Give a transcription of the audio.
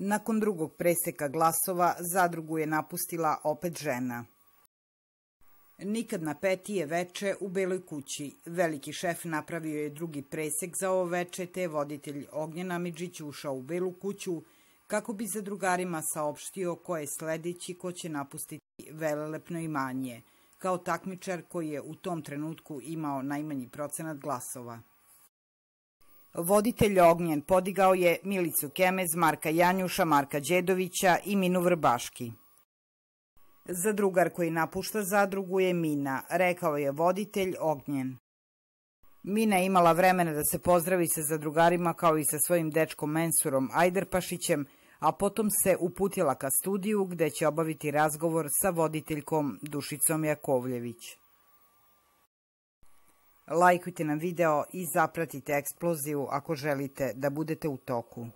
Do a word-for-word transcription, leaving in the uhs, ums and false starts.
Nakon drugog preseka glasova, zadrugu je napustila opet žena. Nikad na Petije veče u Beloj kući. Veliki šef napravio je drugi presek za ovo veče, te je voditelj Ognjen Amidžić ušao u Belu kuću kako bi zadrugarima saopštio ko je sledeći ko će napustiti velelepno imanje, kao takmičar koji je u tom trenutku imao najmanji procenat glasova. Voditelj Ognjen podigao je Milicu Kemez, Marka Janjuša, Marka Đedovića i Minu Vrbaški. Zadrugar koji napušta zadrugu je Mina, rekao je voditelj Ognjen. Mina je imala vremena da se pozdravi sa zadrugarima kao i sa svojim dečkom Mensurom Ajderpašićem, a potom se uputila ka studiju gde će obaviti razgovor sa voditeljkom Dušicom Jakovljević. Lajkujte nam video i zapratite Eksploziju ako želite da budete u toku.